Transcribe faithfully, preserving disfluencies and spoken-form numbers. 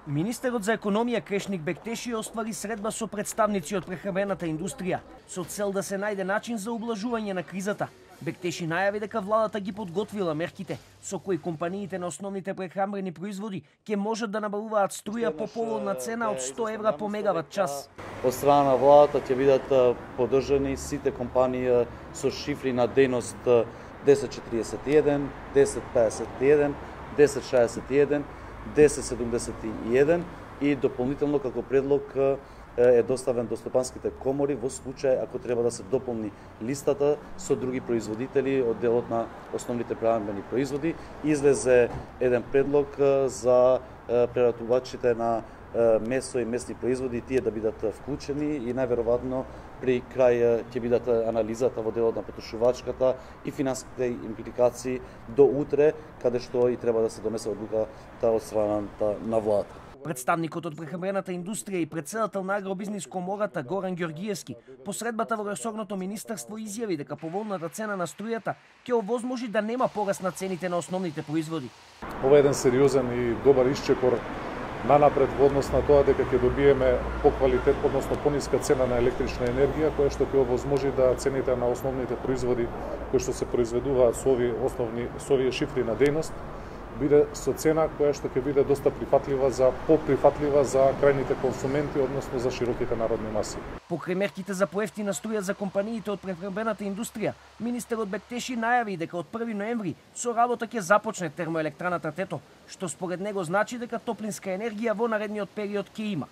Министерот за економија Крешник Бектеши оствари средба со представници од прехрамбената индустрија со цел да се најде начин за ублажување на кризата. Бектеши најави дека владата ги подготвила мерките со кои компаниите на основните прехрамбени производи ќе можат да набавуваат струја по поволна цена од сто евра по мегават час. Од страна на владата ќе бидат поддржани сите компании со шифри на дејност десет четириесет и еден, десет пеесет и еден, десет шеесет и еден, десет седумдесет и еден и дополнително како предлог е доставен до стопанските комори во случај ако треба да се дополни листата со други производители од делот на основните прехранбени производи. Излезе еден предлог за преработувачите на месо и месни производи, тие да бидат вклучени и најверојатно при крај ќе бидат анализата во делот на потрошувачката и финансиските импликации до утре, каде што и треба да се донесе одлуката од страната на владата. Представникот од прехрамбената индустрија и претседател на Агробизнис комората Горан Ѓоргиевски по средбата во ресорното министерство изјави дека поволната цена на струјата ќе овозможи да нема пораст на цените на основните производи. Ова е еден сериозен и добар исчекор нанапред во однос на тоа дека ќе добиеме поквалитет, односно пониска цена на електрична енергија, која што ќе овозможи да цените на основните производи кои што се произведуваат со овие основни со овие шифри на дејност биде со цена која што ќе биде доста прифатлива за поприфатлива за крајните консументи, односно за широките народни маси. Покрај мерките за поевтина струја за компаниите од прехрамбената индустрија, министерот Бектеши најави дека од први ноември со работа ќе започне термоелектраната Тето, што според него значи дека топлинска енергија во наредниот период ќе има.